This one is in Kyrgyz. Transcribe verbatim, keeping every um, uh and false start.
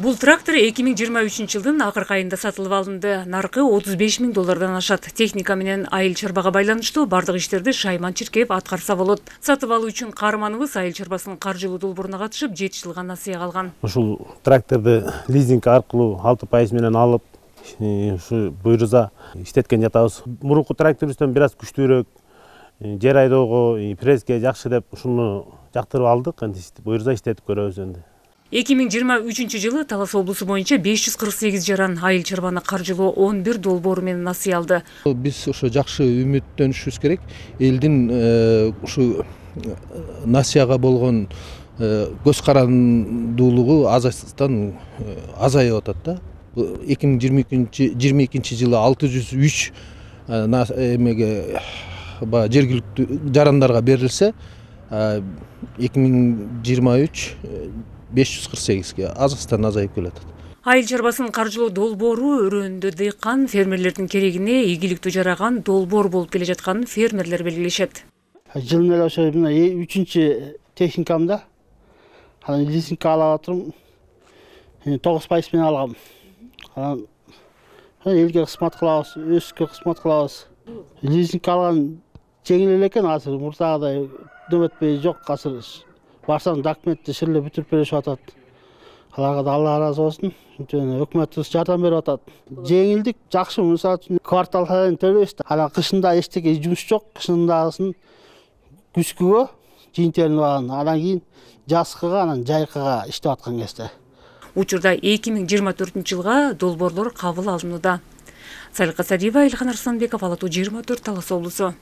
Бул трактор эки миң жыйырма үчүнчү жылдын акыркы айында сатылып алынды. Наркы отуз беш миң доллардан ашат. Техника менен айыл чарбага байланыштуу бардык иштерди Шайман Чиркеев аткарса болот. Сатып алуу үчүн каарманыбыз айыл чарбасынын каржылуу долбооруна катышып, жети жылга насыя калган. Ушул тракторду лизинг аркылуу алты пайыз менен алып, ушу буйруза иштеткен жатабыз. Мурунку тракторубуздан бир аз күчтүүрөөк, жер айдоого, пресске жакшы деп ушуну жактырып алдык. Эми буйруза иштетип көрөбүз энди. эки миң жыйырма үчүнчү жылы Талас облусу боюнча беш жүз кырк сегиз жаран айыл чарбаны каржылоо он бир долбоору менен насыя алды. Биз ошо жакшы үмүттөнүшүбүз керек. Элдин ушу насыяга болгон көз карандуулугу азастан азайып атат да. эки миң жыйырма экинчи жылы алты жүз үч эмеге жергиликтүү жарандарга берилсе, эки миң жыйырма үч беш жүз кырк сегизге азастан азайып келатат. Айыл чарбасынын каржылоо долбоору өрөөндө дыйкан фермерлердин керегине ийгиликтүү жараган долбоор болуп келе жатканын фермерлер белгилешет. Жылына эле ошо мына үчүнчү техникамда анан лизингге алып атырмын. тогуз пайыз менен алгам. Анан элге кызмат кылабыз, өзүбүзгө кызмат кылабыз. Лизингге алган жеңил эле экен азыр, мурдагыдай дөмөтпөй жок азыр. Барсаң документти ширлеп бүтүрүп беришип атат. Аларга да Алла ыраазы болсун. Өкмөтүбүз жардам берип атат. Жеңилдик жакшы, мисалы үчүн квартал сайын төлөйбүз да. Анан кышында эчтеке жумуш жок, кышындагысын күзгүгө жыйынтелинип алган. Анан кийин жазкыга, анан жайкыга иштеп аткан кезде. Учурда эки миң жыйырма төртүнчү жылга долбоорлор кабыл алынууда. Салика Садиева, Илхан Арсланбеков, Ала тоо жыйырма төрт, Талас облусу.